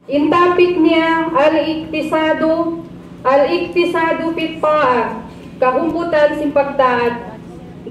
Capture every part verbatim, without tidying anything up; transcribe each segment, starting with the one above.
In topic niya, al-iktisadu, al-iktisadu fit ta'ah, kahumputan sin pagtaat.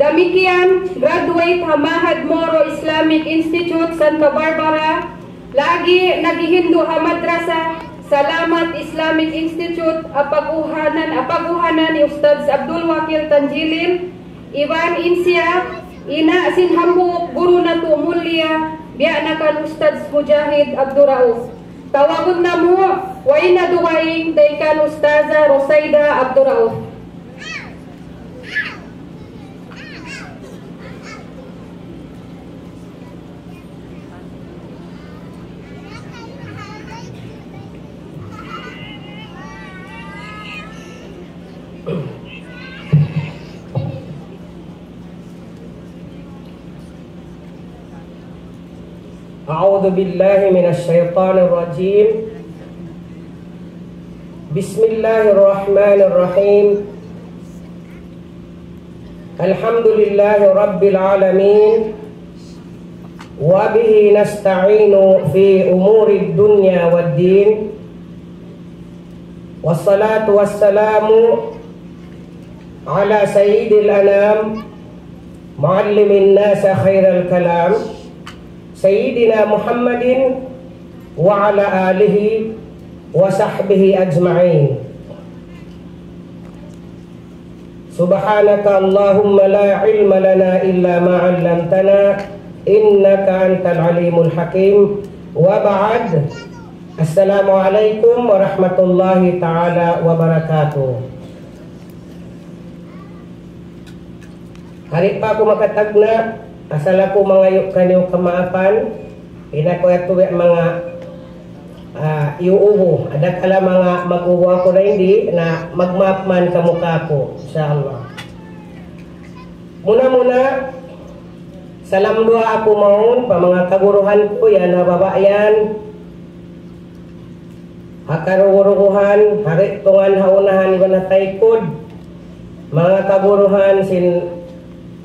Damikkiyan, graduate ha Mahad Moro Islamic Institute, Santa Barbara, lagi' naghihindu' ha Madrasa Salamat Islamic Institute, apag-uhanan, apag-uhanan ni Ustadz Abdul Wakil Tanjilin, iban in siya, ina' sin hambuuk guru natu' mulia, biya' na kan Ustadz Mujahid Abdul Rauf. Tawagun namu', way na dugaing, dayn kan Ustaza Rosaida Abdul Rauf. أعوذ بالله من الشيطان الرجيم. بسم الله الرحمن الرحيم. الحمد لله رب العالمين. وبه نستعين في أمور الدنيا والدين. والصلاة والسلام على سيد الأنام، معلم الناس خير الكلام، سيدنا محمد وعلى آله وصحبه أجمعين. سبحانك اللهم لا علم لنا إلا ما علمتنا إنك أنت العليم الحكيم. وبعد. السلام عليكم ورحمة الله تعالى وبركاته. Di' pa aku makatagna', asal aku mangayu' kaniyu kamaapan, in aku yadtu biya' manga, ah, iyuubu. Adakala manga mag-ubu aku na, di' na, magmaap man kamu kāku', insya Allah. Muna-muna, salam duwaa aku mawn pa manga kaguruhan ku, yan ha baba' yan. Ha karugu-ruguhan, ha gi'tungan, ha unahan, iban ha taykud. Manga kaguruhan sin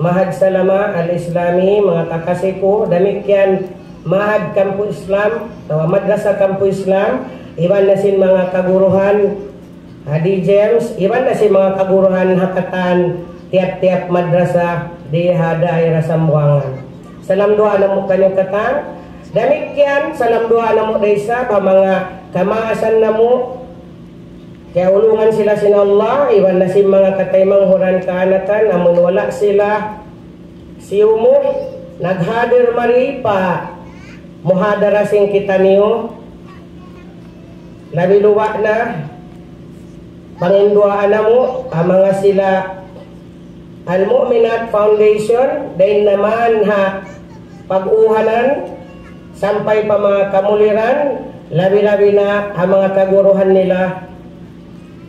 Mahad Salama Al-Islami, manga kakasi ku, damikkiyan Mahad Kampu Islam, atawa Madrasa Kampu Islam, iban na sin manga kaguruhan, ha D J Ms, iban na sin manga kaguruhan ha katan tiyap-tiyap madrasa di ha daira Sambuwangan. Salam duwaa namu' kaniyu katan. Damikkiyan, salam duwaa namu' da isab pa manga kamaasan namu'. Kiyaulungan sila sin Allah, iban na sin manga kataymanghuran kaanakan, amun wala' sila siyumu, naghadir mari pa muhadara sin kitaniyu. Labi luba' na, panginduwaa namu', ha manga sila Al-Mu'minat Foundation, dayn naman ha pag-uhanan, sampay pa manga kamuliran, labi-labi na ha manga kaguruhan nila.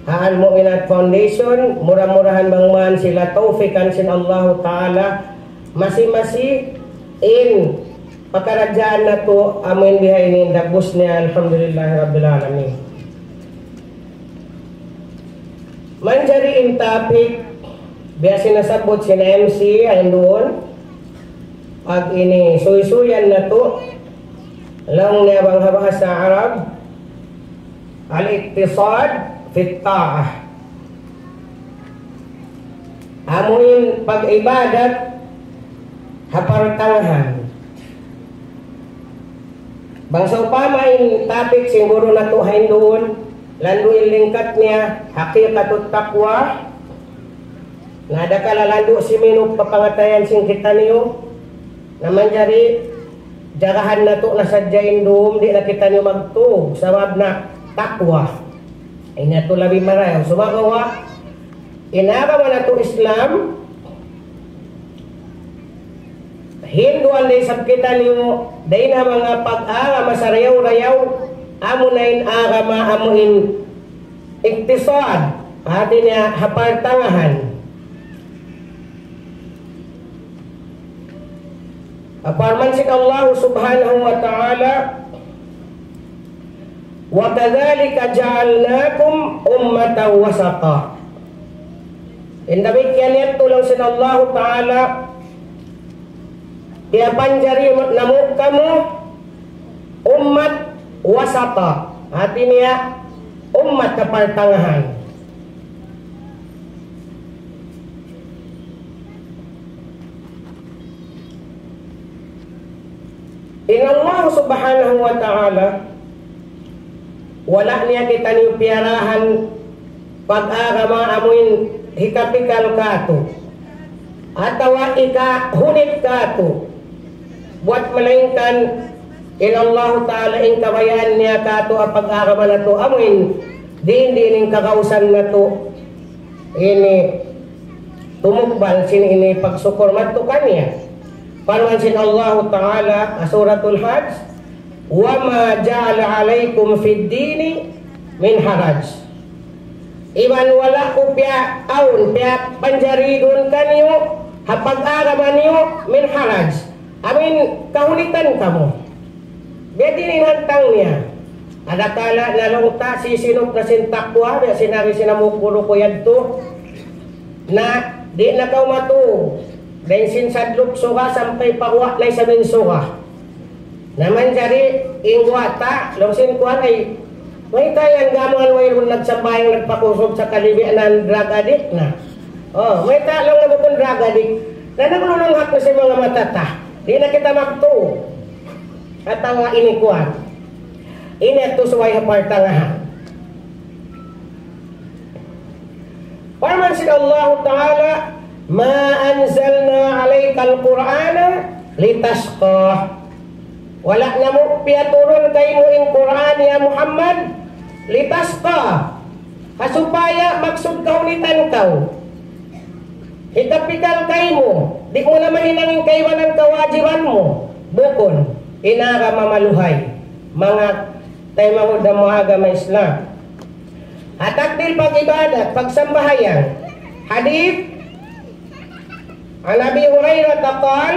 Ha Al-Mu'minat Foundation, mura-murahan bang man sila tawfikan sin Allahu Ta'ala, masi-masi in pakaradjaan natu' amu in bihaini in dagbus niya, alhamdulillahi rabbil alamin. Manjari in topic, biya' sin nasabbut sin M C, ayn duun, pag ini suysuyan natu', laung niya bang ha bahasa Arab, al-iktisad fit ta'ah. Amu in pag-ibadat ha partangahan. Bang sawpama in topic sin guru natu' ha ayn duun, landu' in lingkat niya, haqiqatut taqwa, na adakala landu' siminup pa pangatayan sin kitaniyu, na manjari jagahan natu' na sadja in dum, di' na kitaniyu magtug, sabab na taqwa. Ini yadtu labi marayaw. Sumagawa', in agama natu' Islam, hinduan da isab kitaniyu, dayn ha manga pag-agama sarayaw-rayaw, amu na in agama, amu in iktisad, hati niya ha partangahan. Parman sin Allah Subhanahu wa Ta'ala, وكذلك جعلناكم أمة وسطا. In damikkiyan yadtu laung sin Allah Ta'ala, piyapanjari namu' kamu ummat wasata. Hati niya, ummat ha partangahan. In Allah Subhanahu wa Ta'ala, wala' niya kitaniyu piyarahan pag-agama amuin hikapikal kātu', atawa hikahunit kātu'. Buwat malaingkan in Allahu Ta'ala in kabayaan niya kātu' ha pag-agama natu' amuin diin-diin in kagausan natu' ini tumukbal sin ini pagsukur madtu kaniya. Parman sin Allahu Ta'ala ha Suratul Hajj, وما جعل عليكم في الدين من حرج. Iban wala' ku piyaawn, piyapanjari duun kaniyu, ha pag-agama niyu, min haraj. Amuin kahunitan kamu. Biya' diin in hantang niya. Adakala na laung ta sisinup na sin takwa, biya' sin ari sin hambuuk guru ku yadtu. Na, di' na kaw matu. Dayn sin sadlup suga sampay pa guwa' na isab in suga. Na manjari in guwa' ta, laung sin kuwan ay, mayta' yan gamuan wayruun nagsambahayang nagpakusug sakali biya' na drug addict na. Oh, mayta' laung na bukun drug addict. Na naglulunghak na sin manga mata ta. Di' na kita magtu. Atawa ini kuwan. Ini yadtu subay ha partangahan. Parman sin Allahu Ta'ala, ما أنزلنا عليك القرآن لتشقى. Wala' namu' piyaturun kaymu in Qur'an, ya Muhammad, لتشقى. Ha supaya maksud kahunitan kaw. Hikapikal kaymu, di' mu na mahinang in kaibanan kawajiban mu. Bukun, in agama maluhay. Manga taymanghud namu' ha agama Islam. Ha takdil pag-ibadat, pagsambahayang. Hadith, عن أبي هريرة قال،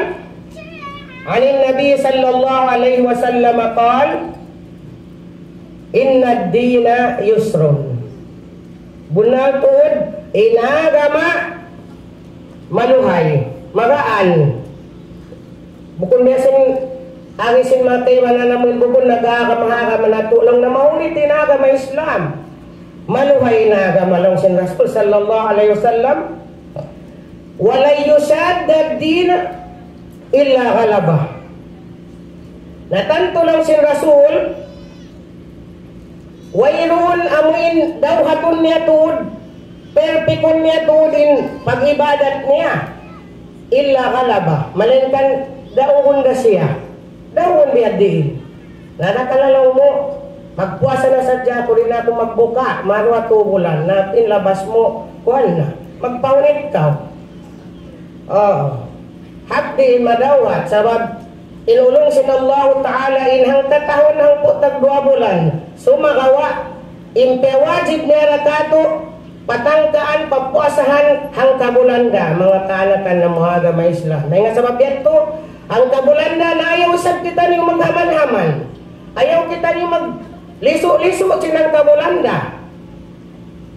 عن النبي صلى الله عليه وسلم قال، إن الدين يسر. Bunnal tuud, in agama maluhay, magaan. Bukun biya' sin, ari sin manga kaibanan namu' bukun nag-agama-agama natu' laung na mahunit in agama Islam. Maluhay in agama laung sin Rasul sallallahu alayhi wasallam. ولن يشاد الدين إلا غلبه. Na tantu laung sin Rasul, wayruun amuin dawhatun niya tuud, perpikun niya tuud in pag-ibadat niya. إلا غلبه, malaingkan daugun da siya. Daugun biya' diin. Na, na kala laung mu, magpuasa na sadja aku, di' na aku magbuka, maruwa tu bulan, na in labas mu, kuwan na, magpahunit kaw. Oo. Hati madawhat, sabab in ulung sin Allahu Ta'ala in hangkatahun hangpu' tagduwa bulan. Sumagawa', in piyawajib niya ra katu', patangkaan, papuasahan, hangka bulan da, manga kaanakan namu' ha agama Islam. Na, in sabab yadtu, hangka bulan da, na ayaw isab kitaniyu maghaman-haman. Ayaw kitaniyu maglisu'-lisu' sin hangka bulan da.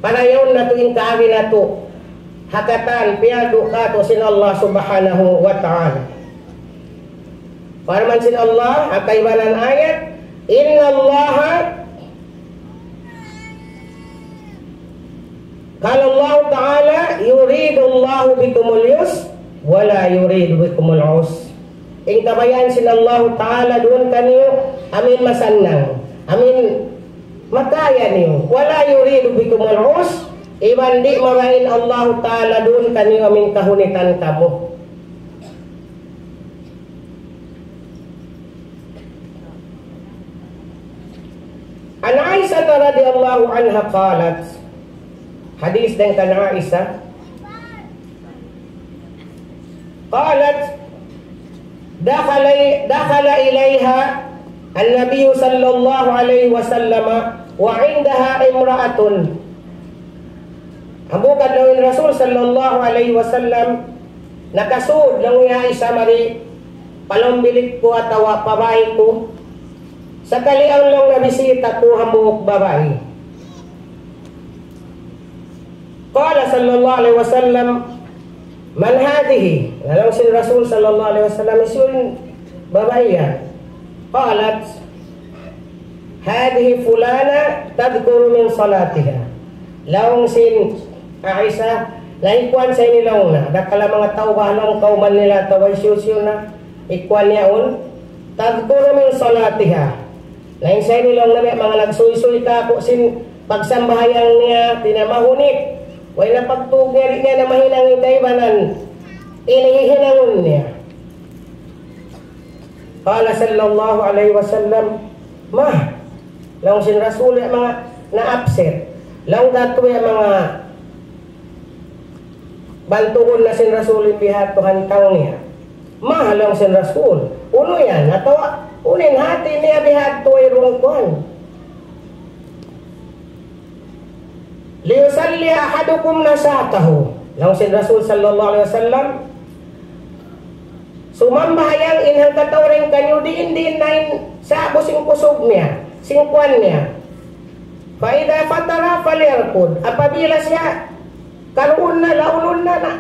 Panayaun natu' in kaagi natu'. Ha katan, piyardu katu' sin Allah Subhanahu wa Ta'ala. Parman sin Allah, ha kaibanan ayat, إن الله, قال الله تعالى, يريد الله بكم اليسر ولا يريد بكم العسر. In kabayaan sin Allahu Ta'ala duun kaniyu, amuin masannang, amuin makaya niyu. ولا يريد بكم العسر, iban di' mabaya' in Allahu Ta'ala duun kaniyu amuin kahunitan kamu. عن عائشة رضي الله عنها قالت, hadith dayn kan Aisha, قالت: دخل، دخل إليها النبي صلى الله عليه وسلم وعندها امرأة. Hambuuk adlaw in Rasul sallallahu alayhi wasallam, nakasud laung hi Aisha mari pa lawm bilik ku atawa pa bāy ku. Sakali awn laung nabisita ku hambuuk babai. قال صلى الله عليه وسلم: من هذه؟ Laung sin Rasul sallallahu alayhi wasallam, "Hisiyu in babai yan?" قالت: هذه فلانة تذكر من صلاتها. Laung sin Aisha, na in kuwan sa ini laung na, dakala' manga tau ba laung kawman nila atawa hisiyu-siyu na, in kuwan yaun, تذكر من صلاتها. Na in sa ini laung na, manga nagsuysuy kāku' sin pagsambahayang niya, hāti niya mahunit. Way na pagtug niya, di' niya na mahinang in kaibanan. Ini hihinangun niya. قال صلى الله عليه وسلم: ما؟ Laung sin Rasul, ya manga na-upset. Laung katu' ya manga bantugun na sin Rasul in bihadtu hantang niya. ما؟ Laung sin Rasul. Unu yan? Atawa, unu in hāti niya bihadtu wayruun kuwan? ليصلي أحدكم نشاطه. Laung sin Rasul sallallahu alayhi wasallam, sumambahayang in hangkatau dayn kaniyu diin-diin na in sa'bu sin kusug niya, sin kuwan niya. فإذا فطر فليرقد. Apabila siya karuun na, laulun na, na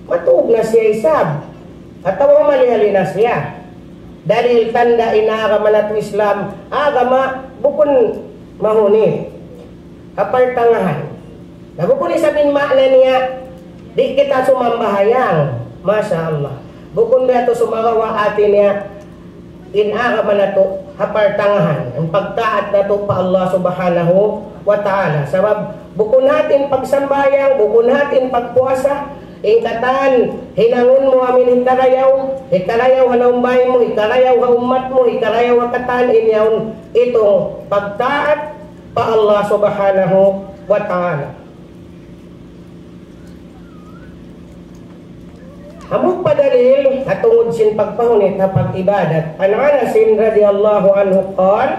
matug na siya isab. Atawa malihali na siya. Dalil tanda' in agama natu' Islam, agama bukun mahunit. Ha partangahan. Na bukun isab in maana niya, di' kita sumambahayang. Masha Allah. Bukun biya' tu sumagawa' hāti niya, in agama natu' ha partangahan, in pagtaat natu' pa Allah Subhanahu wa Ta'ala. Sabab, bukun hāti in pagsambahayang, bukun hāti in pagpuasa, in katan, hinangun mu amin hikarayaw, hikarayaw ha lawm bāy mu, hikarayaw ha ummat mu, hikarayaw ha katan, in yaun itung pagtaat pa Allah Subhanahu wa Ta'ala. Hambuuk pa dalil, ha tungud sin pagpahunit ha pag-ibadat. عن أنس رضي الله عنه قال: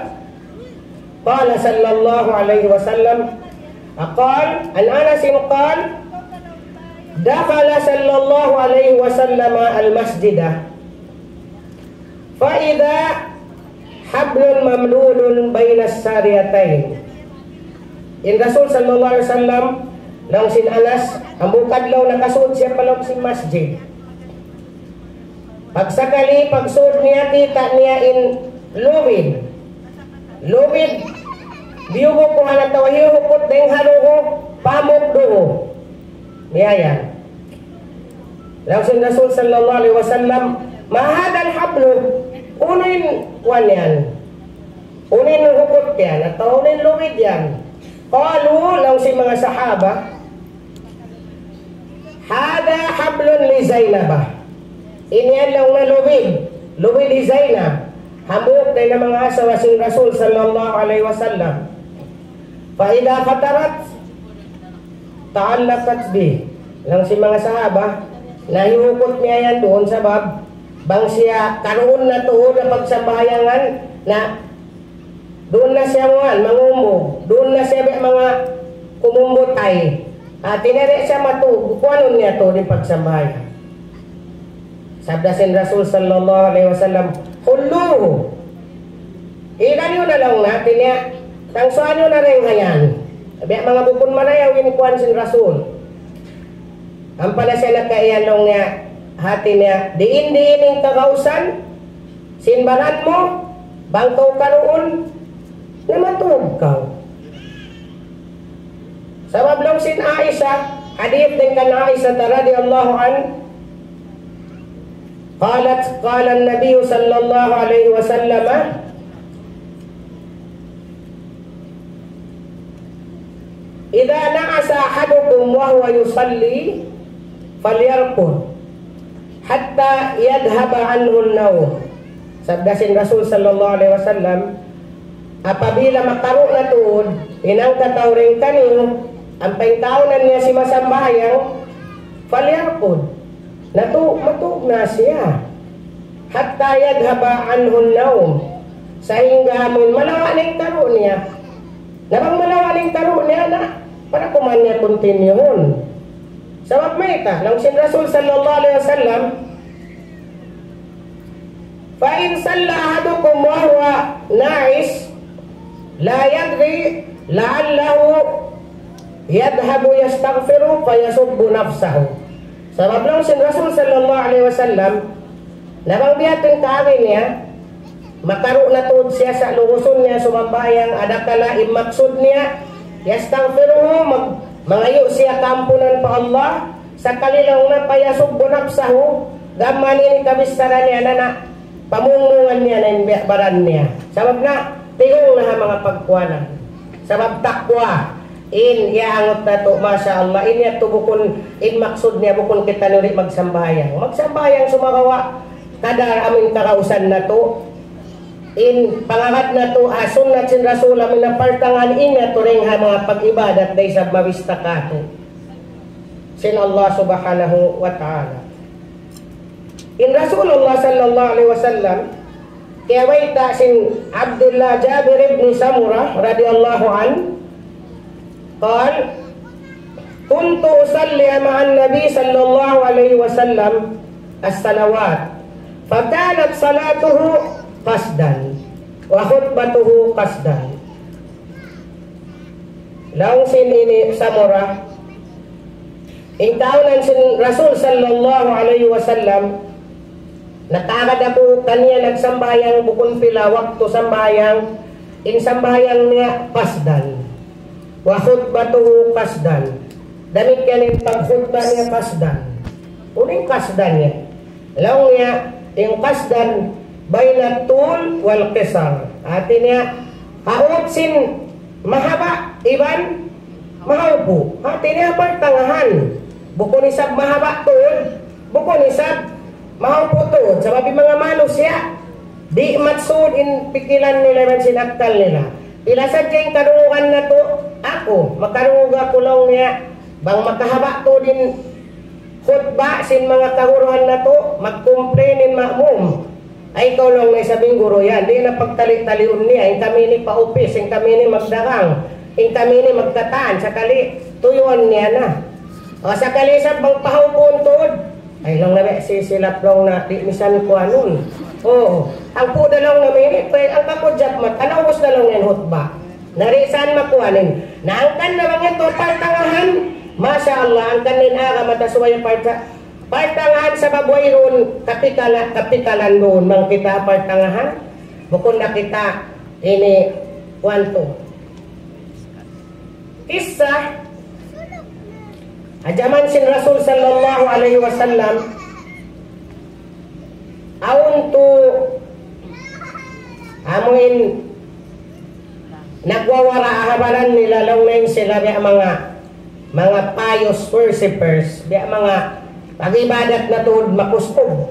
قال صلى الله عليه وسلم، قال، عن أنس قال: دخل صلى الله عليه وسلم المسجد فإذا حبل ممدود بين الساريتين. In Rasul sallallahu alayhi wasallam, laung sin Anas, hambuuk adlaw nakasud siya pa lawm sin masjid. Pagsakali, pagsud niya, kita' niya in lubid. Lubid, biyubu ku hana tawa hiyuhukut dayng ha dugu', pamuk dugu'. Niya yan. Laung sin Rasul sallallahu alayhi wasallam, ما هذا الحبل؟ Unu in kuwan yan? Unu in hukut yan? Atawa unu in lubid yan? قالوا, laung sin manga sahaba, هذا حبل لزينب. Ini yan laung na lubid. Lubid hi Zainab. Hambuuk dayn ha manga asawa sin Rasul sallallahu alayhi wasallam. فإذا فطرت تعلقت به. Laung sin manga sahaba, na hiyukut niya yan duun sabab, bang siya karuun na tuud ha pagsambahayangan, na duun na siya muwan, mangumbug, duun na siya biya' manga kumumbutay. Hati niya di' siya matug, kuwanun niya tuud in pagsambahayang. Sabda sin Rasul sallallahu alayhi wasallam, خلوه. Ikan niyu na laung na, hati niya, tangsuan niyu na dayn ha yan. Biya' manga bukun marayaw in kuwan sin Rasul. Ampa na siya nakaiyan laung niya, hati niya, diin-diin in kagausan, sin baran mu, bang kaw karuun, na matug kaw. Sabab laung sin Aisha, hadith dayn kan Aisha رضي الله عنها, قالت: قال النبي صلى الله عليه وسلم: إذا نعس أحدكم وهو يصلي فليرقد حتى يذهب عنه النوم. Sabda sin Rasul sallallahu alayhi wasallam, apabila makaru' na tuud in hangkatau dayn kaniyu, ampa in kaawnan niya simasambahayang, فليرقد. Natu', matug na siya. حتى يذهب عنه النوم. Sahingga amun malawa' na in karu' niya. Na bang malawa' na in karu' niya na, para kuman niya continuehun. Sabab mayta', laung sin Rasul sallallahu alayhi wasallam, فإن صلى أحدكم وهو ناعس لا يدري لعله يذهب يستغفر فيسب نفسه. Sabab laung sin Rasul sallallahu alayhi wasallam, na bang biya' ha yan in kaagi niya, Makaru' na tuud siya sa' lugusun niya sumambahayang, adakala in maksud niya, yastaghfiruhu, mag-, mangayu' siya kaampunan pa Allah, sakali laung niya payasubbu nafsahu, gam mayan ini kabissaran niya na na, pamungmungan niya na in biya' baran niya. Sabab na, tigong na ha manga pagkuanan. Sabab takwa, in iyaangut natu', masha Allah, in yadtu bukun, in maksud niya bukun kitaniyu di' magsambahayang. Magsambahayang sumagawa', kadar amu in kagausan natu'. In pangagad natu', ha sunnat sin Rasul, amu in partangahan in yadtu dayn ha manga pag-ibadat da isab mabista katu' sin Allah Subhanahu wa Ta'ala. In Rasulullah sallallahu alayhi wasallam, kiyabayta' sin Abdullah Jabir ibn Samurah radiyallahu anhu, قال: كنت أصلي مع النبي صلى الله عليه وسلم الصلوات، فكانت صلاته قصدا، وخطبته قصدا. Laung sin ini Samurah, in kaunan sin Rasul sallallahu alayhi wasallam, nakaagad aku kaniya nagsambahayang bukun pila waktu sambahayang, in sambahayang niya qasdan. وخطبته قصدا. Damikkiyan in pagkhutba niya qasdan. Unu in qasdan niya? Laung niya, in qasdan بين الطول والقصر. Hati niya, ha ut sin mahaba' iban mahawpu'. Hati niya partangahan. Bukun isab mahaba' tuud, bukun isab mahawpu' tuud. Sabab in manga manusiya', di' maksud in pikilan nila iban sin akkal nila. Pila sadja in kadungugan natu', aku, makadungug aku laung niya, bang makahaba' tuud in khutba sin manga kaguruhan natu', mag-complain in ma'mum. Ay, ikaw laung niya isab in guru yan, di' na pagtali-taliun niya, in kami ini pa-upis, in kami ini magdagang, in kami ini magkatan, sakali tuyuan niya na. O, sakali isab bang pahawpuun tuud, ay, laung niya, sisilap laung niya, di' misan kuanun. Oo, hangpu' da laung niya ini, pwede, hangka ku jab mat, anaw ubus da laung niya in khutba. Na di' san makuan in. Na hangkan na bang yadtu partangahan, masha Allah, hangkan in agama ta subay parta-, partangahan sabab wayruun kapikala-, kapikalan duun bang kita partangahan. Bukun na kita ini kuwan tu. Kissa, ha jaman sin Rasul sallallahu alayhi wasallam, awn tu amuin nagwawara' ha baran nila laung niya sila biya' manga, manga pious worshippers, biya' manga pag-ibadat na tuud makusug.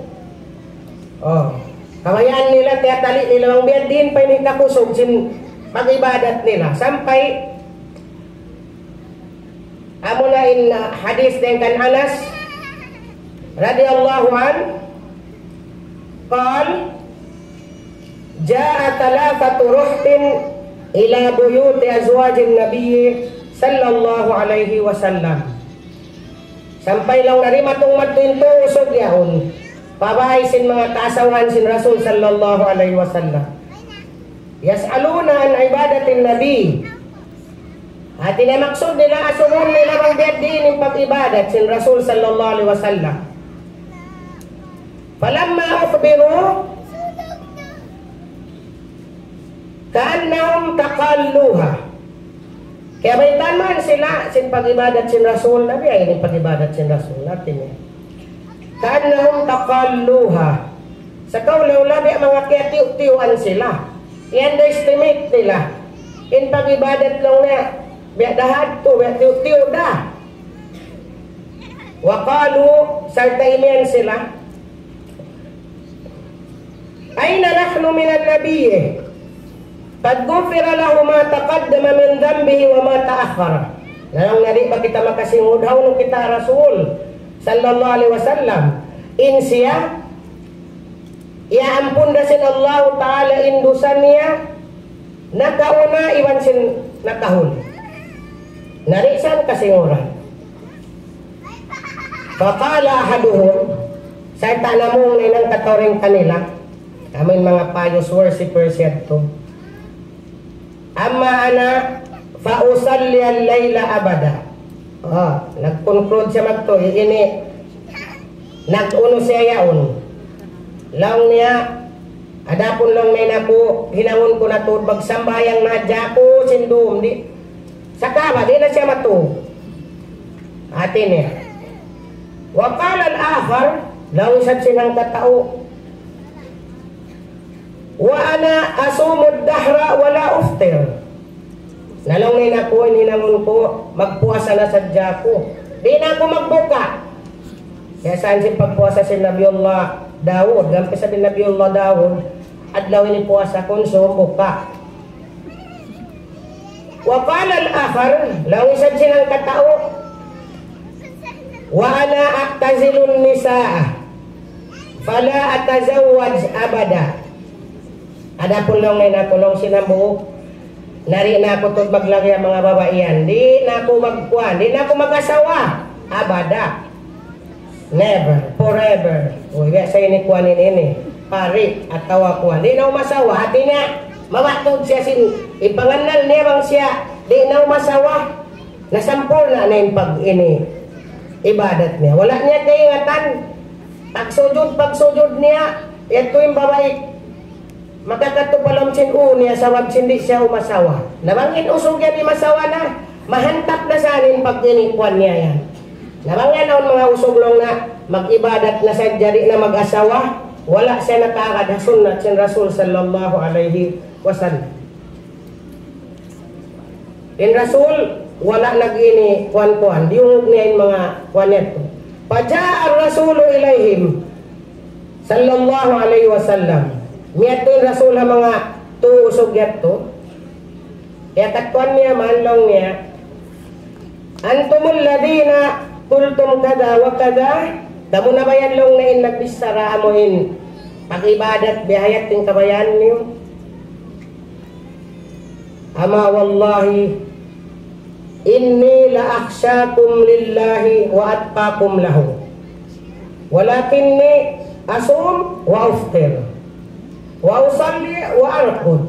Oh, kabayaan nila, tiyatali nila bang biya' diin pa in kakusug sin pag-ibadat nila. Sampay, amu na in, uh, hadith dayn kan Anas radiyallahu anhu, قال: جاء ثلاثة رهط إلى بيوت أزواج النبي صلى الله عليه وسلم. Sampay laung niya dimatung madtu in tū usug yaun pa bāy sin manga kaasawahan sin Rasul sallallahu alayhi wasallam. يسألون عن عبادة النبي. Hati niya maksud nila, asubuhun nila bang biya' diin in pag-ibadat sin Rasul sallallahu alayhi wasallam. فلما أخبروا كأنهم تقالوها. Kiyabaytaan man sila sin pag-ibadat sin Rasul, na biya' ini pag-ibadat sin Rasul, hati niya. كأنهم تقالوها. Sakaula-ula biya' manga kiyatiyu'-tiyuan sila. I-underestimate nila in pag-ibadat laung niya, biya' da hadtu, biya' tiyu'-tiyu' da. وقالوا, sarta' imiyan sila, أين نحن من النبي قد غفر له ما تقدم من ذنبه وما تأخر. Laung niya, di' ba kita makasingud, hawnu kita Rasul sallallahu alayhi wasallam? In siya, iyaampun da sin Allahu Ta'ala in dusa niya nakauna iban sin nakahuli. Na di' san kasinguran. فقال أحدهم, sarta' namung na in hangkatau dayn kanila, amuin manga pious worshippers yadtu. أما أنا فأصلي الليل أبدا. Oh, nag-conclude siya magtuy, ini, nag-unu siya yaun. Laung niya, Adapun laung niya in aku, hinangun ku na tuud magsambahayang na hadja aku sin dum, di'. Sa' kawa, di' na siya matug. Hati niya. وقال الآخر, laung isab sin hangkatau, وأنا أصوم الدهر ولا أفطر. Na laung niya in aku, in hinangun ku, magpuasa na sadja aku. Di' na aku magbuka. Kiyasaan sin pagpuasa sin Nabiullah Daud. Gam pa isab in Nabiullah Daud, adlaw ini puasa, kunsum buka. وقال الآخر, laung isab sin hangkatau, وأنا أعتزل النساء فلا أتزوج أبدا. Adapun laung niya in aku, laung sin hambuuk, na di' na aku tuud maglagi ha manga babai yan. Di' na aku magkuan, di' na aku mag-asawa. Abada. Never, forever. Uy, biya' sa ini kuan ini, ini. Pari atawa kuan. Di' na umasawa. Hati niya, mawa tuud siya sin, in pangannal niya bang siya di' na umasawa. Nasampurna' na in pag ini, ibadat niya. Wala' niya kaingatan. Pagsujud, pagsujud niya, yadtu in babai, makakadtu pa lawm sin ū niya sabab sin di' siya umasawa. Na bang in usug yan imasawa na, mahantap na sa in pag ini kuan niya yan. Na bang yan awn manga usug laung niya, mag-ibadat na sadja, di' na mag-asawa, wala' siya nakaagad ha sunnat sin Rasul sallallahu alayhi wasallam. In Rasul, wala' nag-ini kuan-kuan, diyungug niya in manga kuan yadtu. فجاء الرسول إليهم صلى الله عليه وسلم. Miyadtu in Rasul ha manga tū usug yadtu. Kiyakadtuan niya man laung niya, أنتم الذين قلتم كذا وكذا. Kamu na ba yan laung niya in nagbichara amu in pag-ibadat biya' ha yan in kabayaan niyu? أما والله إني لأخشاكم لله وأتقاكم له ولكني أصوم وأفطر وأصلي وأرقد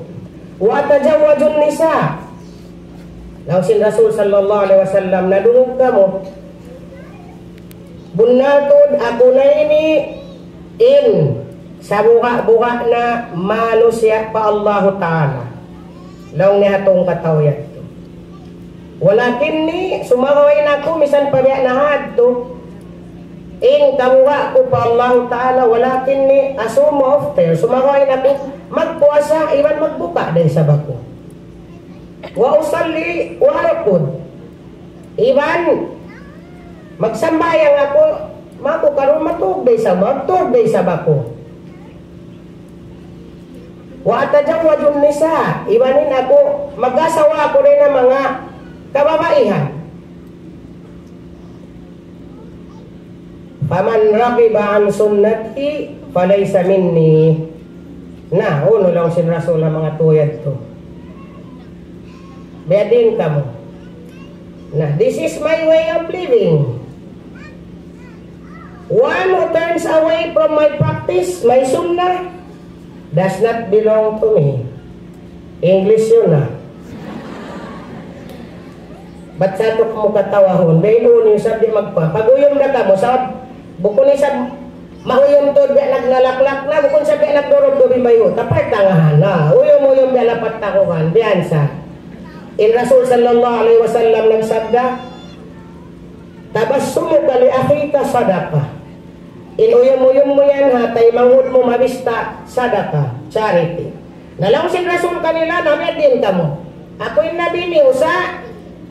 وأتزوج النساء. Laung sin Rasul sallallahu alayhi wasallam, na dungug kamu. Bunnal tuud aku na ini in sabuga'-buga' na manusiya' pa Allahu Ta'ala. Laung niya ha tungkataw yadtu. ولكني, sumagawa' in aku misan pa biya' na hadtu, in kabuga' ku pa Allahu Ta'ala, ولكني أصوم وأفطر. Sumagawa' in aku magpuasa, iban magbuka da isab aku. وأصلي وأرقد. Iban magsambahayang aku, maku karu matug da isab, matug da isab aku. وأتزوج النساء, iban in aku mag-asawa aku dayn ha manga kababaihan. فمن رغب عن سنتي فليس مني. Na, unu laung sin Rasul ha manga tū yadtu? Biya' diin kamu? Na, this is my way of living. One who turns away from my practice, my sunnah, does not belong to me. English yun, ah. Bat sa' tu kamu katawahun, biya' unu in isab di' magpa-, pag-uyum da kamu, sa' bukun isab mauyum tuud biya' nagnalaklak na, bukun isab biya' nagdurub-durub in bayhu', tapay tangahan na, uyum-uyum biya' lapat takuhan, biya' sa'. In Rasul sallallahu alayhi wasallam nagsabda, تبسمك لأخيك صدقة. In uyum-uyum mu yan ha taymanghud mu mabista, sadaka, charity. Na laung sin Rasul kanila, na biya' diin kamu? Aku in Nabi niyu sa',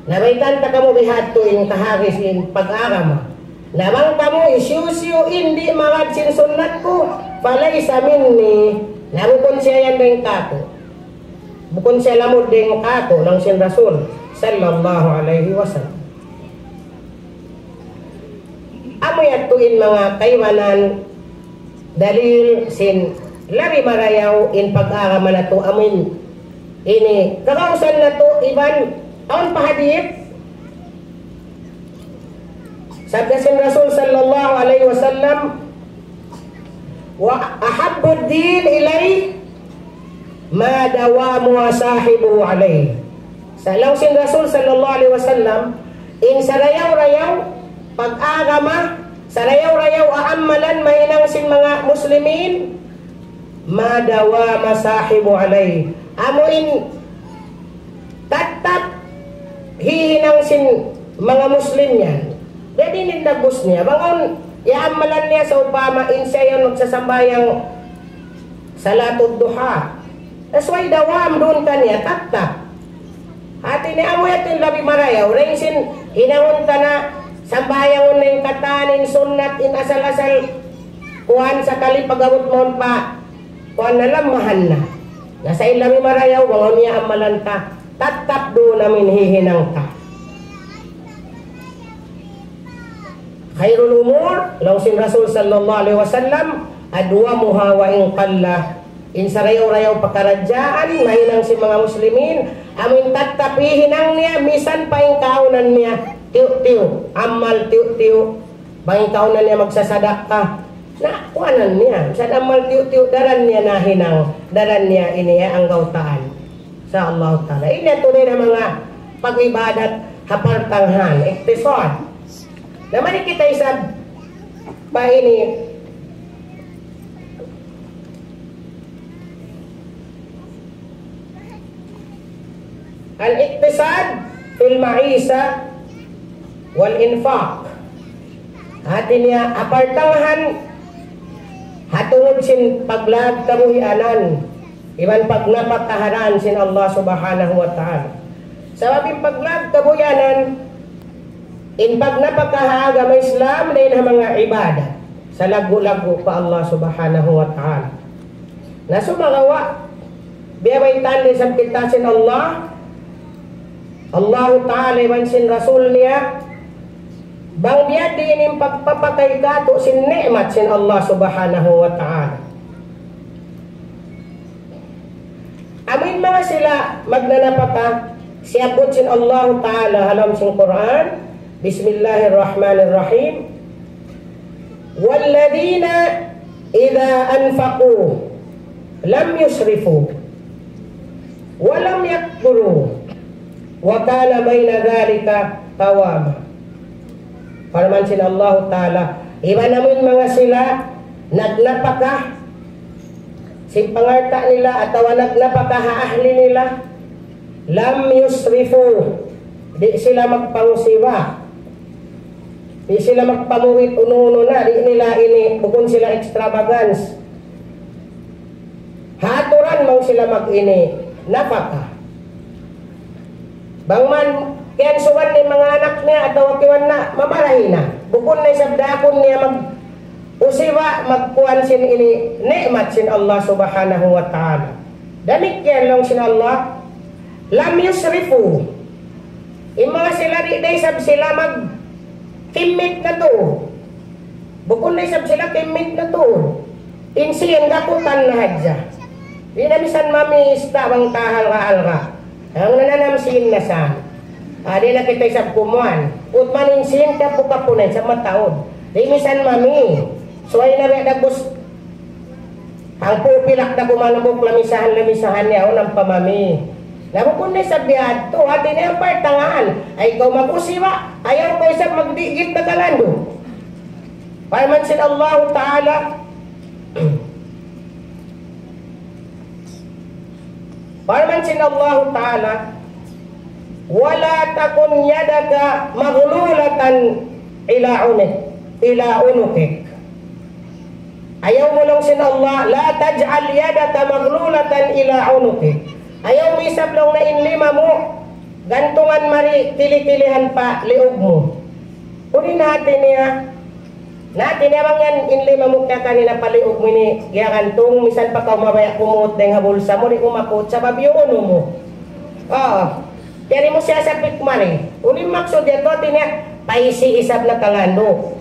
na baytaan ta kamu bihadtu in kahagis sin pag-agama. Na bang kamu hisiyu-siyu in di' magad sin sunnat ku, فليس مني, na bukun siya yan dayn kāku'. Bukun siya lamud dayn kāku', laung sin Rasul sallallahu alayhi wasallam. Amu yadtu in manga kaibanan dalil sin labi marayaw in pag-agama natu' amu in ini kagausan natu' iban awn pa hadith. Sabda sin Rasul sallallahu alayhi wasallam, وأحب الدين إلي ما داوم صاحبه عليه. Sa' laung sin Rasul sallallahu alayhi wasallam, in sarayaw-rayaw pag-agama, sarayaw-rayaw aamalan mahinang sin manga Muslimin, ما داوم صاحبه عليه. Amu in tattap hihinang sin manga Muslim yan. Jadi in dagbus niya, bang awn iyaamalan niya, sawpama in siya yan magsasambahayang salatud duha. That's why dawam duun kaniya, tattap. Hati niya amu yadtu in labi marayaw, dayn sin hinangun ta na, sambahayangun na in katan, in sunnat, in asal-asal, kuwan sakali pag-abut mawn pa, kuwan na lammahan na. Na sa' in labi marayaw, bang awn iyaamalan ta, tattap duun amu in hihinang ta. خير الأمور, laung sin Rasul sallallahu alayhi wasallam, أدومها وإن قل. In sarayaw-rayaw pakaradjaan, mahinang sin manga Muslimin, amu in tattap hihinang niya, misan pa in kaawnan niya tiyu'-tiyu', amal tiyu'-tiyu', bang in kaawnan niya magsasadakka, na, kuwanan niya, misan amal tiyu'-tiyu', daran niya nahinang, daran niya ini, eh, anggawtaan. Insya Allah Ta'ala. Ini yadtu in manga pag-ibadat ha partanghan, iktisad. Na mari kita isab pa ini. الاقتصاد في المعيشة والإنفاق. Hati niya, ha partanghan, ha tungud sin paglag kabuhianan, iban pagnapakaharan sin Allah Subhanahu wa Ta'ala. Sabab in paglag kabuhianan, in pagnapaka ha agama Islam, dayn ha manga ibadat, salaggu'-laggu' pa Allah Subhanahu wa Ta'ala. Na sumagawa', biya' baytaan da isab kita sin Allah, Allahu Ta'ala iban sin Rasul niya, bang biya' diin in pagpapakay katu' sin ni'mat sin Allah Subhanahu wa Ta'ala. Amu in manga sila magnanapaka, siyabbut sin Allahu Ta'ala ha lawm sin Qur'an, بسم الله الرحمن الرحيم. والذين إذا أنفقوا لم يسرفوا ولم يقتروا وكان بين ذلك قواما. Parman sin Allahu Ta'ala, iban amu in manga sila nagnapaka sin pangalta' nila atawa nagnapaka ha ahli nila, لم يسرفوا, di' sila magpangusiba, di' sila magpamuhit unu-unu na, di' nila ini, bukun sila extravagance. Ha aturan bang sila mag-ini, napaka. Bang man, kiyansugan in manga anak niya, atawa kiwan na, mamarahi na. Bukun na isab daakun niya mag-usiba, magkuwan sin ini, ni'mat sin Allah Subhanahu wa Ta'ala. Damikkiyan laung sin Allah, لم يسرفوا. In manga sila di' da isab sila magkimmit na tuud. Bukun da isab sila kimmit na tuud. In sīn gaputan na hadja. Di' na misan mamista bang ta halga'-halga'. Hangkan nananam sīn na sa. Ah, di' na kita isab kumuan. Putman in sīn kapu-kapu na isab mataud. Di' misan mami. Subay na biya' dagbus hangpu' pilak da kuman hambuuk lamisahan-lamisahan niya, awn ampa mami. Na bukun na isab biya' hadtu, hati niya in partanghan. Ay, ikaw mag-usiba, ayaw kaw isab magdigit na kalandu'. Parman sin Allahu Ta'ala, parman sin Allahu Ta'ala, ولا تكن يدك مغلولة إلى عنق، إلى عنقك. Ayaw mu laung sin Allah, لا تجعل يدك مغلولة إلى عنقك. Ayaw mu isab laung niya in lima mu, gantungan mari tili-tilihan pa liug mu. Unu in hati niya, na, hati niya bang yan, in lima mu kaya kanina pa liug mu ini, giyagantung, misan pa kaw mabaya' kumuut dayn ha bulsa mu, di' mu makuut, sabab unu mu. Oo. Kiyari mu siya sa pikmari. Unu in maksud yadtu, hati niya, paisi isab na kalandu'.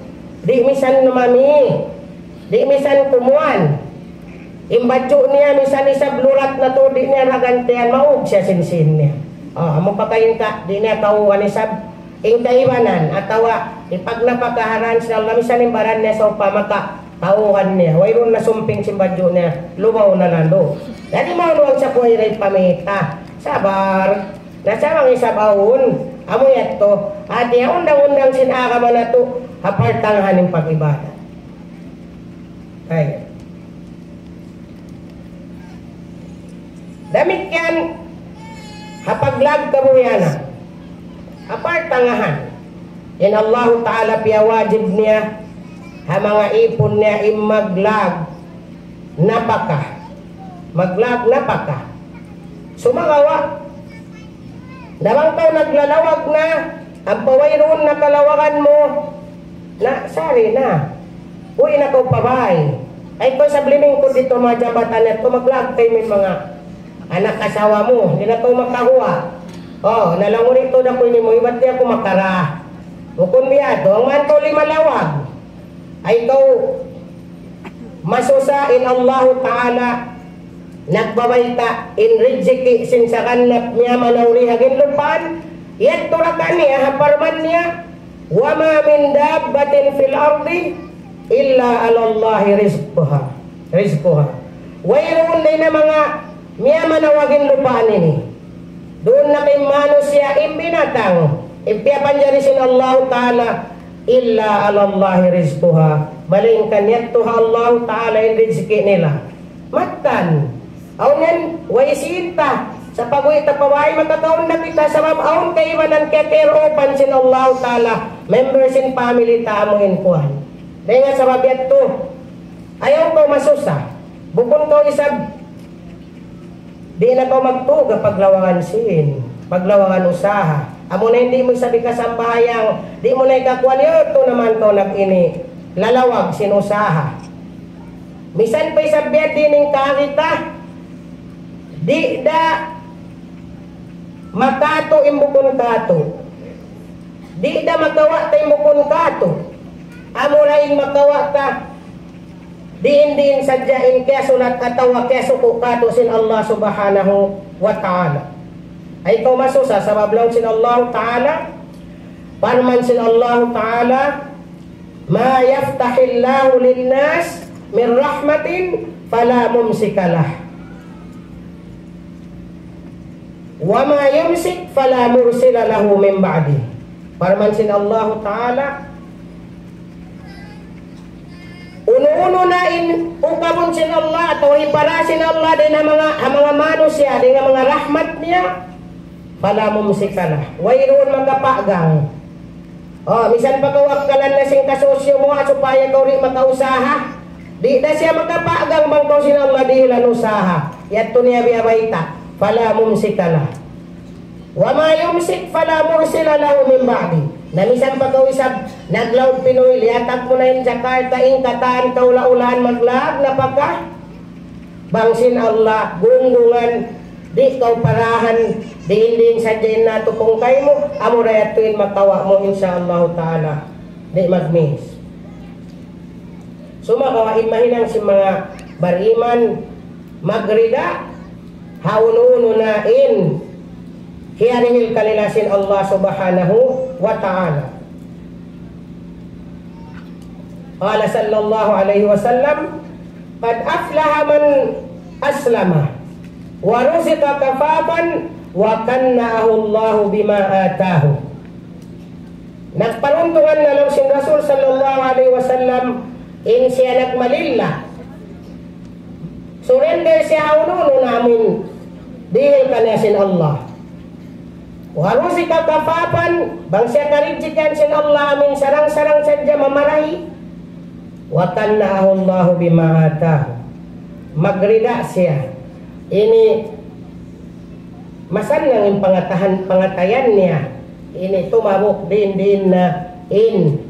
Di' misan mami. Di' misan kumuan. In badju' niya, misan isab lurat na tuud, di' niya nagantian, maug siya sin sīn niya. Oo, amu pa kaingka, di' niya kauhan isab in kaibanan, atawa ipagnapakaharan sin Allah, misan in baran niya sawpama ka, kauhan niya, wayruun na sumping sin badju' niya, lumaw na landu'. Jadi, maunu ang sa kuway ray pamita. Sabar. Na sa' bang isab awn, amu yadtu, hati niya undang-undang sin agama natu', ha partanghan in pag-ibadat. Ay. Damikkiyan ha paglag kabuhianan. Ha partangahan, in Allahu Ta'ala piyawajib niya ha manga ipun niya in maglag napaka. Maglag napaka. Sumagawa', na bang kaw naglalawag na, ampa wayruun na kalawagan mu, na, sari na. Uwi' na kaw pa bāy. Ay, kaw sa bliming ku didtu manga jabatan yadtu, maglag kaymu in manga anak asawa mu, di' na kaw makaguwa'. O, na laung mu didtu, da ku ini mu, ibat di' aku makara. Bukun biya' yadtu, bang man kaw limalawag, ay kaw masusa in Allahu Ta'ala nagbabayta' in rijiki' sin saganap miyamanaw di ha ginlupaan, yadtu ra kaniya ha parman niya, وما من دابة في الأرض إلا على الله رزقها. رزقها. Wayruun dayn ha manga miyamanaw ha ginlupaan ini. Duun na kay manusiya' in binatang, in piyapanjari sin Allahu Ta'ala, إلا على الله رزقها. Malaingkan yadtu ha Allahu Ta'ala in rijiki' nila. Mattan. Awn yan, way sinta. Sa' pag-uwi' ta pa bāy, makakaun na kita sabab awn kaibanan kiyakairupan sin Allahu Ta'ala. Member sin family ta amu in kuwan. Dayn ha sabab yadtu, ayaw kaw masusa. Bukun kaw isab di' na kaw magtug ha paglawagan sin, paglawagan usaha. Amu na in di' mu isab hikasambahayang, di' mu na hikakuwan, yadtu na man kaw nag-ini, lalawag sin usaha. Misan pa isab biya' diin in kaagi ta, di' da makatu' in bukun katu'. Di' da makawa' ta in bukun katu'. Amura in makawa' ta diin-diin sadja in kiyasulat atawa kiyasuku' katu' sin Allah Subhanahu wa Ta'ala. Ayaw kaw masusa sabab laung sin Allah Ta'ala, parman sin Allah Ta'ala, ما يفتح الله للناس من رحمة فلا ممسك لها وما يمسك فلا مرسل لها من بعده. Parman sin Allahu Ta'ala, unu-unu na in ukabun sin Allah atawa hipara sin Allah dayn ha manga, ha manga manusiya', dayn ha manga rahmat niya, فلا ممسك له. Wayruun makapagang. O, misan pa kaw akkalan na sin kasosyo mu, ha, supaya kaw di' makausaha. Di' da siya makapagang bang kaw sin Allah dihilan usaha. Yadtu niya biya' bayta'. فلا ممسك له وما يمسك فلا مرسل له من بعده. Na misan pa kaw isab naglaug Pinoy, liyatag mu na in Jakarta, in katan kaula-ulaan maglag napaka. Bang sin Allah, gunggungan, di' kaw parahan, diin-diin sadja in natupung kaymu, amura yadtu in makawa' mu, insya Allah Ta'ala. Di' mag-miss. Sumagawa' in mahinang sin manga bariman, magrida, ha unu-unu na in kiyarihil kanila sin Allah Subhanahu wa Ta'ala. قال صلى الله عليه وسلم: قد أفلح من أسلم ورزق كفافا وقنعه الله بما آتاه. Nagparuntungan na laung sin Rasul sallallahu alayhi wasallam in siya nagmalilla. Surrender siya ha unu-unu na amu in dihil kaniya sin Allah. ورزق كفافا, bang siya karijikihan sin Allah amu in sarang-sarang sadja mamarahi. وقنعه الله بما آتاه. Magrida siya. Ini masannang in pangatahan, pangatayan niya. Ini tumabuk diin-diin na in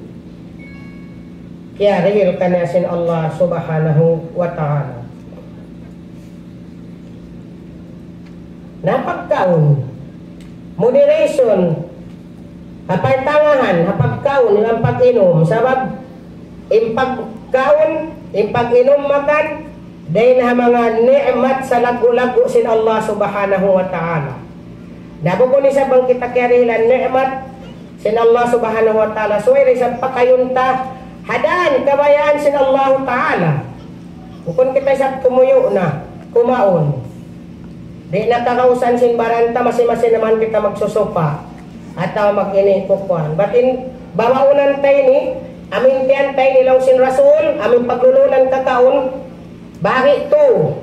kiyarihil kaniya sin Allah Subhanahu wa Ta'ala. Na pagkaun, moderation, ha pagtangahan, ha pagkaun, iban pag-inum. Sabab, in pagkaun, in pag-inum makan, dayn ha manga ni'mat salaggu'-laggu' sin Allah Subhanahu wa Ta'ala. Na bukun isab bang kita kiyarihilan ni'mat sin Allah Subhanahu wa Ta'ala, subay da isab pakayun ta ha dān kabayaan sin Allah Ta'ala. Bukun kita isab tumuyu' na, kumaun. Di' na kagausan sin baran ta, masi-masi na man kita magsusupa. Atawa mag-ini kukuan. Bat in bawaunan ta ini, amu in tiyan ta ini laung sin Rasul, amu in paglulunan kakaun, bari tu.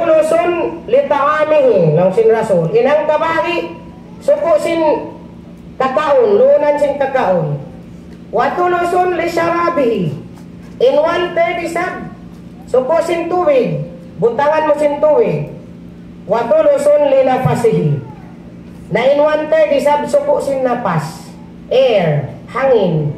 Thuluthun li ta'amihi, laung sin Rasul. In hangka bahagi', suku' sin kakaun, luunan sin kakaun. Wa thuluthun li sharabihi. In one third isab, suku' sin tubig, butangan mu sin tubig. Wa thuluthun li nafasihi. Na in one third isab suku' sin napas, air, hangin.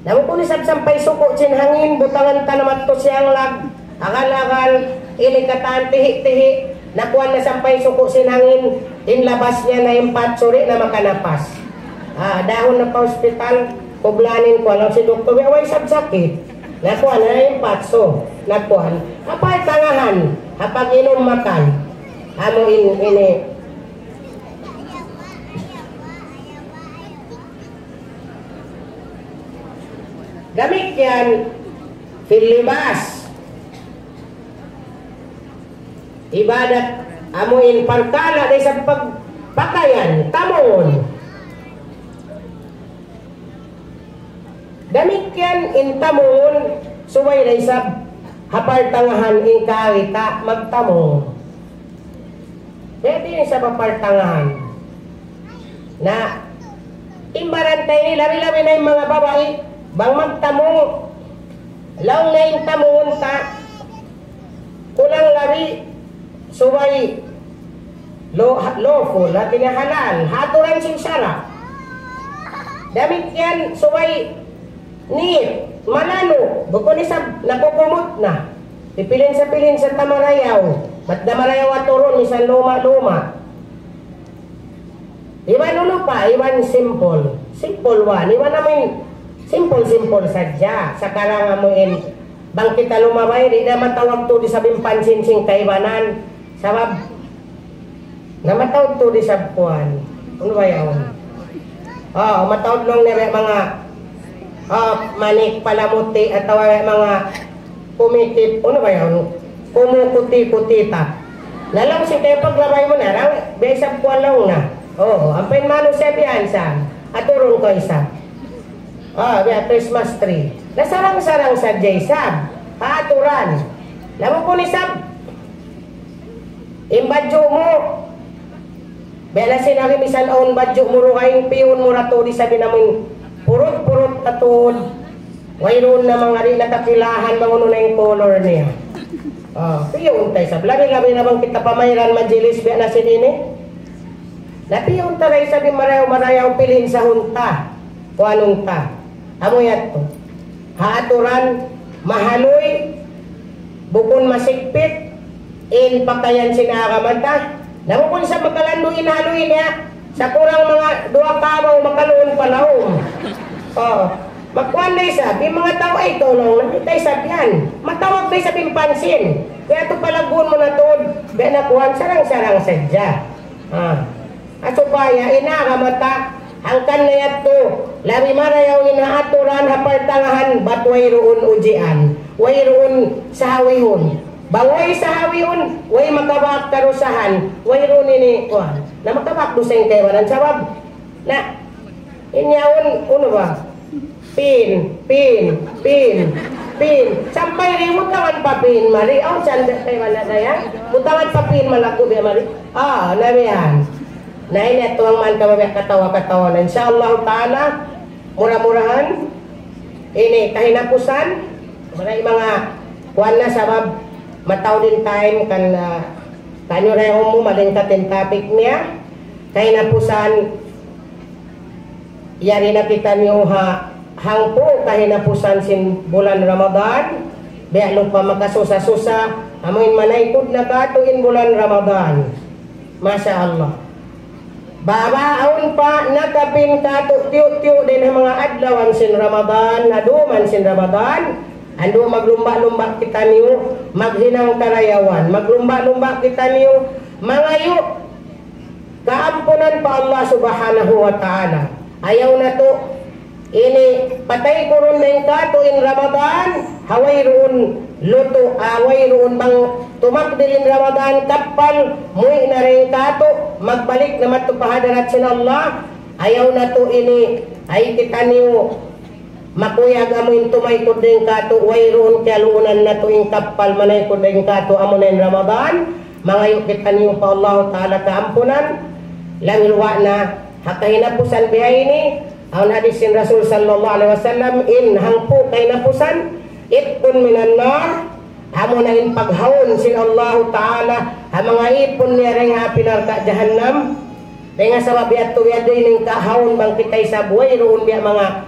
Na bukun isab sampay suku' sin hangin, butangan ta na madtu siyanglag, agal-agal, ini katan, tihi'-tihi', nakuan na sampay suku' sin hangin, in labas niya na impat, suri na makanapas. Ah, dahun na pa hospital, kublanin ku, laung sin doktor, "Way isab sakit." Nakuan na impat, so, nakuan. Apa tangahan, ha pag-inum makan. Amu in, ini, damikkiyan, fil libas. Ibadat, amu in parkala' da isab pag-, pakayan, tamungun. Damikkiyan in tamungun, subay da isab ha partangahan in kaagi ta magtamung. Pwede ini sa partangahan. Na, timbaran ta ini, labi-labi na in manga babai, bang magtamung, laung na in tamungun ta, kulang labi, subay, lo-, lawful, hati niya halal, ha aturan sin sara'. Damikkiyan, subay, nit, malanu', bukun isab, nakukumut na. Pipilinsa-pilinsa ta marayaw. Bat da marayaw aturun, misan luma'-luma'. Iban unu pa, iban simple. Simple one. Iban amu in, simple-simple sadja. Sakarang amu in, bang kita lumabay, di' na matawag tuud isab in pansin sin kaibanan. Sabab, na mataud tuud isab kuwan. Unu ba yaun? Oh, mataud laung niya manga, oh, manik palamuti atawa manga kumitip, unu ba yaun? Kumukuti-kutita. Na laung sin kaya paglabay mu na, laung, biya' isab kuwan laung na. Oh, ampa in manusiya' biya' yan sa, aturun ku isab. Oh, biya' Christmas tree. Na sarang-sarang sadja isab. Ha aturan. Laung ku isab, in badju' mu, biya' na sin agi misan awn badju' mu dugaing, piyun mu ra tuud isab in amun purut-purut na tuud. Wayruun na manga di' na kakilahan bang unu na in color niya. Ah, piyun ta isab. Labi-labi na bang kita pa mayran majilis biya' na sin ini. Na piyun ta ra isab in marayaw-marayaw, pilinsahun ta. Kuanun ta. Amu yadtu. Ha aturan, mahaluy, bukun masigpit, in pakayan sin agama ta. Na bukun sa makalandu' in haluy niya, sa kurang manga duwa kabaw makaluun pa lawm. Oh, makuan na isab, in manga tau ay tulung na kita isab yan. Matawag na isab in pansin. Kaya ito palagun mu na tuud, biya' na kuan, sarang-sarang sadja. Ah. At supaya in agama ta, hangkan na yadtu, labi marayaw in ha aturan ha partangahan, bat wayruun ujian, wayruun sahawihun. Bang way sahawihun, way makabak karusahan, wayruun ini, kuwan, na makabak dusa in kaibanan. Sabab, na, in yaun, unu ba? Pin, pin, pin, pin. Sampay di' butangan pa pin, mari. Awn sanda kay wala na yan. Butangan pa pin, malaggu' biya' mari. Ah, na biya' yan. Na ini atuang man kababiya' katawa-katawa na. Insya Allah ta'ala, mura-murahan, ini kahinapusan, muna in manga kuwan na sabab mataud in time kan, ah, kanyo na yung mu, malingkat in topic niya. Kahinapusan, yari na kitaniyu ha hangpu' kahinapusan sin bulan Ramadan, biya' lupa makasusa-susa, amuin manaykud na katu' in bulan Ramadan. Masha Allah. Baba awn pa nakapin katu' tiyu'-tiyu' dayn ha manga adlawan sin Ramadan, ha duman sin Ramadan, andu' maglumba'-lumba' kitaniyu, maghinang karayawan, maglumba'-lumba' kitaniyu, mangayu' kaampunan pa Allah Subhanahu wa Ta'ala. Ayaw natu' ini patay kurun dayn katu' in Ramadan, ha wayruun lutu', ah, wayruun bang tumakdir in Ramadan, kappal, muwi' na dayn katu', magbalik na madtu pa hadarat sin Allah. Ayaw natu' ini, ay kitaniyu, Makuyag amu in tumaykud dayn kātu', wayruun kiyaluunan natu' in kappal manaykud dayn kātu', amuna in Ramadan, mangayu' kitaniyu pa Allahu Ta'ala kaampunan, labi luba' na ha kahinapusan bihaini, awn hadis sin Rasul sallallahu alayhi wasallam, in hangpu' kahinapusan, itqun minan nar, amuna in paghawn sin Allahu Ta'ala ha manga ipun niya dayn ha api narka' jahannam. Dayn ha sabab yadtu biya' diin in kahawn bang kita isab wayruun biya' manga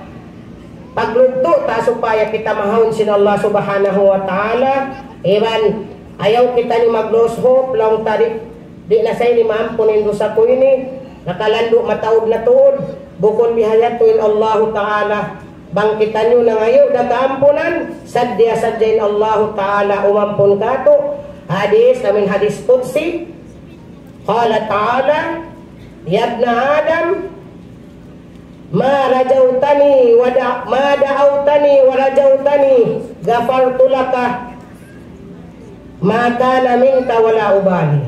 paglugtu' ta supaya kita mahawn sin Allah Subhanahu wa Ta'ala. Iban ayaw kita ini mag-lose hope, laung ta di', di' na sa ini maampun in dusa ku ini, nakalandu' mataud na tuud. Bukun bihayadtu in Allahu Ta'ala. Bang kitaniyu nangayu' da kaampunan, sadja-sadja in Allahu Ta'ala umampun kātu'. Hadis, amin hadis qudsi. قال تعالى: يا ابن آدم، ما رجوتني ودع-، ما دعوتني ورجوتني غفرت لك ما كان منك ولا أبالي.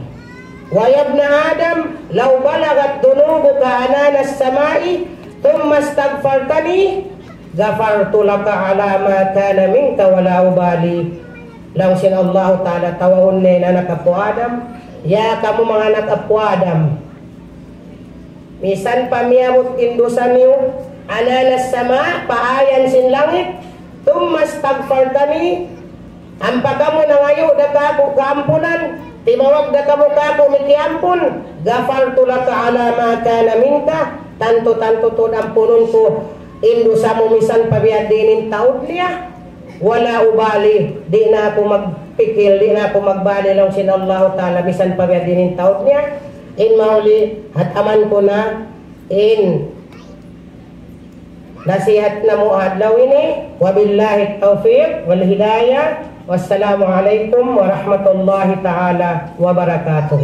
ويا ابن آدم، لو بلغت ذنوبك عنان السماء ثم استغفرتني غفرت لك على ما كان منك ولا أبالي. Laung sin Allahu Ta'ala, tawagun niya in anak apu' Adam, "Ya kamu manga anak apu' Adam, misan pa miyabut in dusa niyu, عنان السماء, pa ayan sin langit, ثم استغفرتني, ampa kamu nangayu' da kāku' kaampunan, timawag da kamu kāku' mikiampun, غفرت لك على ما كان منك, tantu-tantu tuud ampunun ku in dusa mu misan pa biya' diin in taud niya. ولا أبالي, di' na aku magpikil, di' na aku magbali," laung sin Allahu Ta'ala, misan pa biya' diin in taud niya. In mahuli, hataman ku na in nasihat namu' ha adlaw ini. وبالله التوفيق والهداية. والسلام عليكم ورحمة الله تعالى وبركاته.